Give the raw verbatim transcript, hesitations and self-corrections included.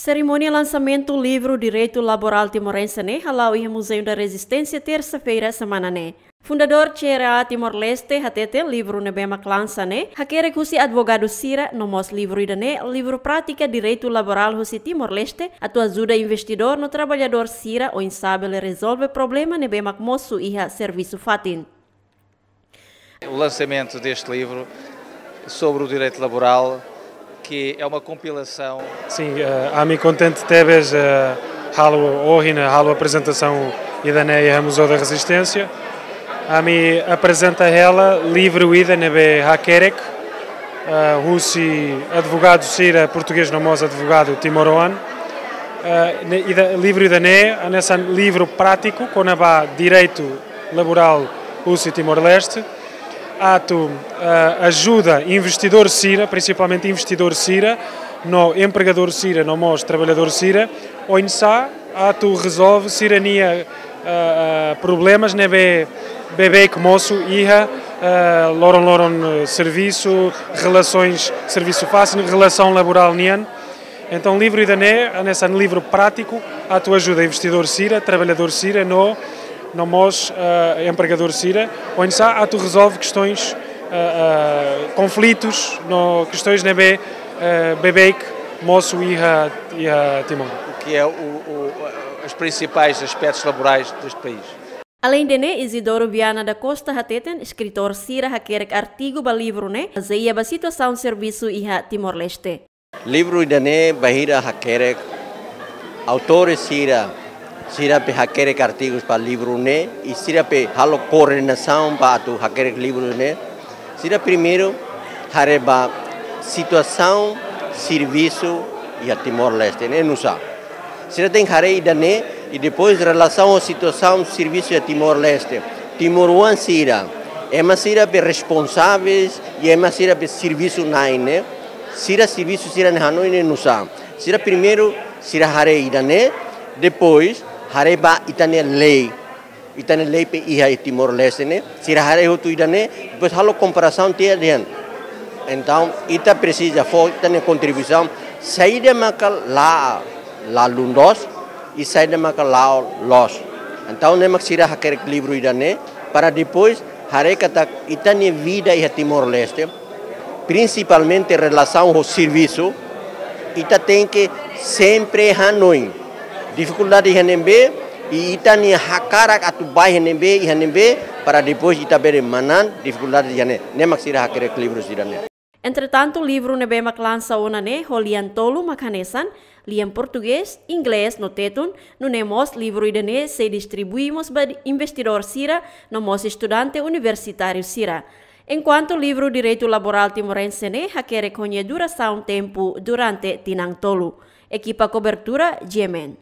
Serimónia lansamentu livru Direitu Laborál Timorense ne'e hala'o iha Museu da Resistência, tersa-feira semana ne'e. Fundadór C R A Timor-Leste hateten livru ne'ebé mak lansa ne'e hakerek husi advogadu sira, no mós livru ida-ne'e livru prátika direitu laborál husi Timor-Leste, atu ajuda investidór no traballadór sira oinsá bele rezolve problema ne'ebé mak mosu iha servisu fatin. O lançamento deste livro sobre o direito laboral, que é uma compilação. Sin, eh, ami kontente tebes, eh, halo ohin, halo aprezentasaun ida-ne'e iha Museu da Resistência. Ami aprezenta hela livru ida ne'ebé hakerek, eh, husi advogadu sira portugés no mós advogadu timoroan. Eh, ne'e ida, livru ida-ne'e hanesan livru prátiku kona-ba direitu laborál husi Timor-Leste, atu, eh, ajuda investidór sira, prinsipalmente investidór sira, no empregadór sira, no mós traballadór sira, oinsá atu rezolve sira-nia, eh, eh, problemas ne'ebé, beibeik mosu iha, eh, loron-loron, eh, servisu, relasaun servisu fatin, relasaun laborál nian. Entaun livru ida-ne'e hanesan livru prátiku atu ajuda investidór sira, traballadór sira, no, no mós, eh, empregadór sira, oinsá atu rezolve kestaun, eh, eh, konflitus, no kestaun ne'ebé, eh, beibeik mosu iha, iha Timor. O que é o, o, os principais aspectos laborais deste país. Aleinde ne'e, Isidoro Viana da Costa hateten, eskritór sira hakerek artigu ba livru ne'e bazeia ba situasaun servisu iha Timor-Leste. Livru ida-ne'e bainhira hakerek, autór sira, sira be hakerek artigus ba livru ne'e, i sira be halo koordenasaun ba atu hakerek livru ne'e. Sira primeiru haree ba situasaun servisu iha Timor-Leste ne'e nu'usá. Sira tenke haree ida-ne'e, i depois relasaun ho situasaun servisu iha Timor-Leste. Timoroan sira, ema sira be responsavel, i ema sira be servisu na'in ne'e, sira servisu sira-nia hanoin ne'e nu'usá. Sira primeiru, sira haree ida-ne'e, depois haree ba ita-nia lei. Ita-nia lei be iha Timor-Leste ne'e, sira haree hotu ida-ne'e, depois halo komparasaun tiha dehan. Entaun, ita presiza fó ita-nia kontribuisaun, saida maka la, la lundos, i saida maka la'o loos. Entaun, ne'e mak sira hakerek livru ida-ne'e, para depois haree katak ita-nia vida iha Timor-Leste, prinsipalmente relasaun ho servisu, ita tenke sempre hanoin difikuldade iha ne'ebé, i ita-nia hakarak atu bá iha ne'ebé, iha ne'ebé, para depois ita bele manán difikuldade iha ne'e. Ne'e mak sira hakerek livru sira-ne'e. Entretantu, livru ne'ebé mak lansa ona ne'e ho lian tolu mak hanesan, lian portugés, inglés no tetun, nune'e mós livru ida-ne'e sei distribui mós ba investidór sira, no mós estudante universitáriu sira. Enkuantu livru Direitu Laborál Timorense ne'e hakerek ho nia durasaun tempu durante tinan tolu. Ekipa kobertura, G M N.